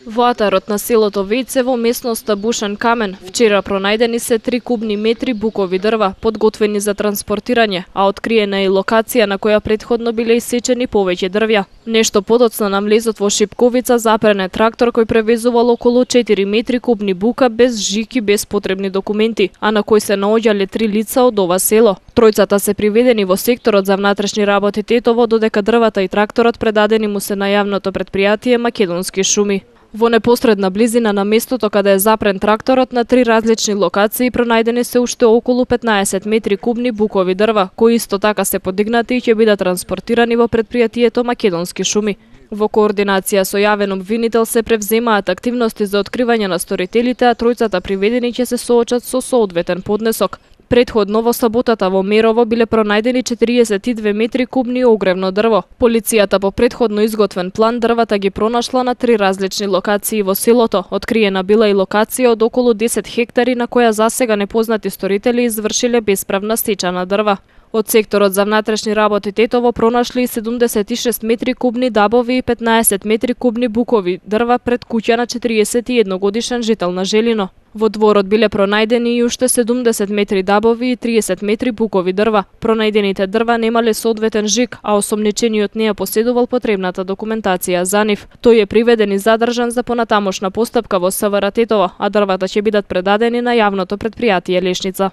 Во атарот на селото Вејце во местноста Бушен Камен вчера пронајдени се 3 кубни метри букови дрва, подготвени за транспортирање, а откриена е и локација на која претходно биле исечени повеќе дрвја. Нешто подоцна на млезот во Шипковица запрен е трактор кој превезувал околу 4 метри кубни бука без жик и без потребни документи, а на кој се наоѓале 3 лица од ова село. Тројцата се приведени во секторот за внатрешни работи Тетово, додека дрвата и тракторот предадени му се на јавното претпријатие Македонски шуми. Во непосредна близина на местото каде е запрен тракторот, на 3 различни локации пронајдени се уште околу 15 метри кубни букови дрва, кои исто така се подигнати и ќе бидат транспортирани во претпријатието Македонски шуми. Во координација со јавен обвинител се превземаат активности за откривање на сторителите, а тројцата приведени ќе се соочат со соодветен поднесок. Предходно во саботата во Мерово биле пронајдени 42 метри кубни огревно дрво. Полицијата по предходно изготвен план дрвата ги пронашла на 3 различни локации во селото. Откриена била и локација од околу 10 хектари на која засега непознати сторители извршиле бесправна сеча на дрва. Од секторот за внатрешни работи Тетово пронашли 76 метри кубни дабови и 15 метри кубни букови дрва пред куќа на 41 годишен жител на Желино. Во дворот биле пронајдени и уште 70 метри дабови и 30 метри букови дрва. Пронајдените дрва немале соодветен жик, а осомничениот не ја поседувал потребната документација за нив. Тој е приведен и задржан за понатамошна постапка во СВР Тетово, а дрвата ќе бидат предадени на јавното претпријатие Лешница.